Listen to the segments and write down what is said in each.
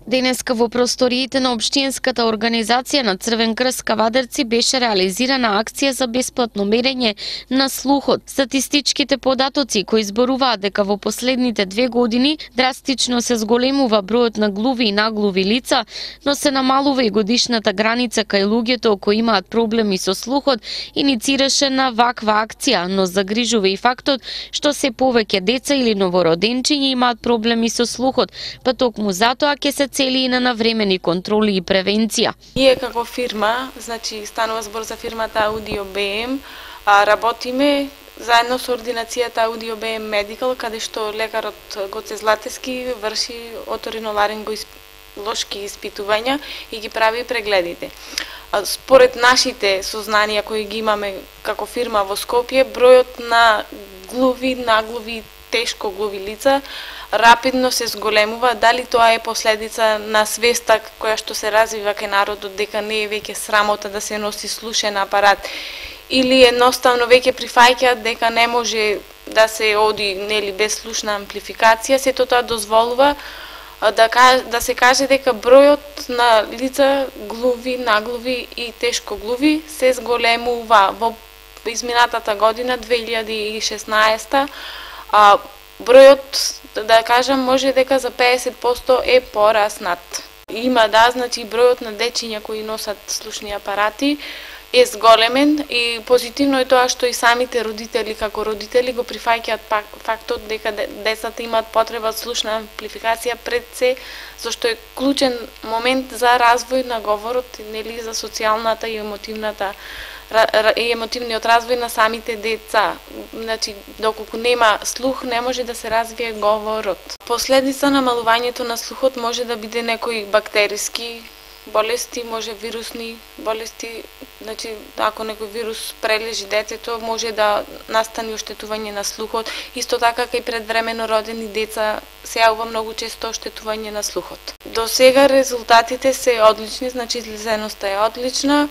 Денеска во просториите на Општинската организација на Црвен крст Кавадарци беше реализирана акција за бесплатно мерење на слухот. Статистичките податоци кои зборуваат дека во последните 2 години драстично се зголемува бројот на глуви и наглуви лица, но се намалува и годишната граница кај луѓето кои имаат проблеми со слухот, иницираше на ваква акција, но загрижува и фактот што се повеќе деца или новороденчиња имаат проблеми со слухот, па токму затоа ќе се цели и на навремени контроли и превенција. Ние како фирма, значи станува збор за фирмата Audio BM, работиме заедно со ординацијата Audio BM Medical, каде што лекарот Гоце Златевски врши оториноларинголошки испитувања и ги прави прегледите. Според нашите сознанија кои ги имаме како фирма во Скопје, бројот на глуви, наглуви, тешко глуви лица рапидно се зголемува. Дали тоа е последица на свеста која што се развива кај народот дека не е веќе срамота да се носи слушен апарат, или едноставно веќе прифаќаат дека не може да се оди нели без слушна амплификација, сето тоа дозволува да се каже дека бројот на лица глуви, наглуви и тешко глуви се зголемува. Во изминатата година 2016 бројот, да кажам, може дека за 50% е пораснат. Има значи бројот на дечиња кои носат слушни апарати е зголемен и позитивно е тоа што и самите родители како родители го прифаќаат фактот дека децата имаат потреба од слушна амплификација пред се, зашто е клучен момент за развој на говорот, нели, за социјалната и емотивниот развој на самите деца. Значи, доколку нема слух, не може да се развие говорот. Последица на намалувањето на слухот може да биде некои бактериски болести, може вирусни болести. Значи, ако некој вирус прележи детето, може да настане оштетување на слухот. Исто така кај предвремено родени деца се јавува многу често оштетување на слухот. До сега резултатите се одлични, значи излезеноста е одлична.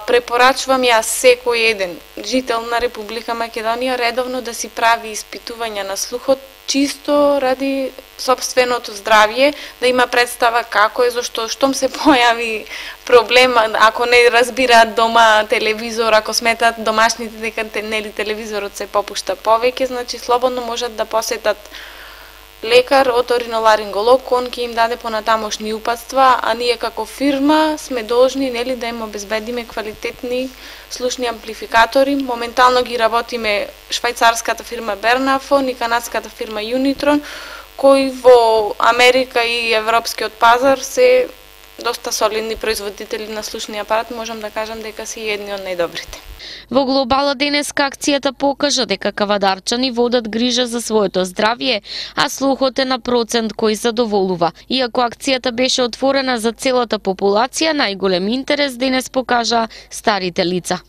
Препорачувам јас секој еден жител на Република Македонија редовно да си прави испитувања на слухот, чисто ради сопственото здравје, да има представа како е, зашто штом се појави проблем, ако не разбираат дома телевизор, ако сметат домашните дека нели телевизорот се попушта повеќе, значи слободно можат да посетат лекар, оториноларинголог, он ќе им даде понатамошни упатства, а ние како фирма сме должни нели да им обезбедиме квалитетни слушни амплификатори. Моментално ги работиме швајцарската фирма Бернафон и канадската фирма Unitron, кои во Америка и европскиот пазар се доста солидни производители на слушни апарат, можам да кажам дека се едни од најдобрите. Во глобала денеска акцијата покажа дека кавадарчани водат грижа за своето здравје, а слухот е на процент кој задоволува. Иако акцијата беше отворена за целата популација, најголем интерес денес покажа старите лица.